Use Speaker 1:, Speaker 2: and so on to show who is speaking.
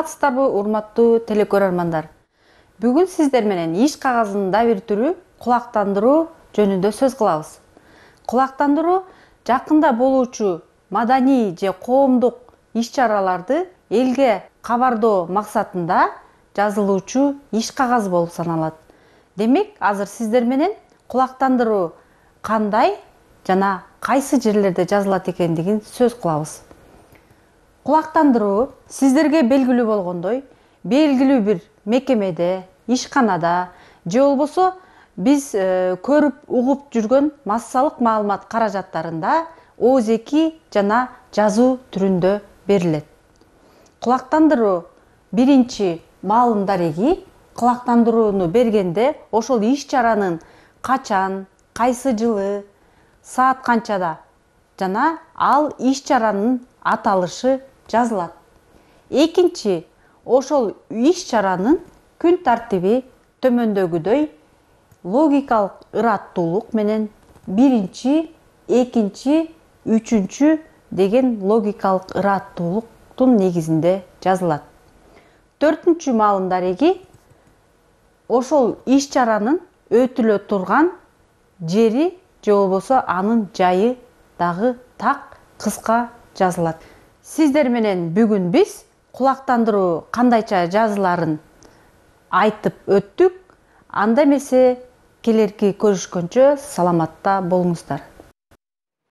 Speaker 1: Саламатсыздарбы, урматтуу телекөрөрмандар. Бүгүн сиздер менен иш кагазынын да бир түрү кулактандыруу жөнүндө сөз кылабыз. Кулактандыруу жакында болуучу маданий же коомдук иш-чараларды элге кабардоо максатында жазылуучу иш кагаз болуп саналат. Демек, азыр сиздер менен кулактандыруу кандай жана кайсы жерлерде жазылат экендигин сөз кылабыз. Кулактандыруу сиздерге белгилүү болгондой, белгилүү бир мекемеде, ишканада же болбосо биз көрүп угуп жүргөн массалык маалымат каражаттарында оозеки жана жазуу түрүндө берилет. Кулактандыруу биринчи маалым дареги кулактандырууну бергенде ошол иш-чаранын качан, кайсы жылы, саат канчада жана ал иш-чаранын аталышы жазылат. Экинчи, ошол иш-чаранын күн тартиби төмөндөгүдөй логикалык ыраттуулук менен биринчи, экинчи, үчүнчү деген логикалык ыраттуулуктун негизинде жазылат. Төртүнчү маалым дареги ошол иш-чаранын өтүлө турган жери же болбосо анын жайы дагы так кыска жазылат. Сиздер менен бүгүн биз кулактандыруу кандайча жазыларын айтып өттүк. Анда эмесе келерки көрүшкөнчө саламатта болуңуздар.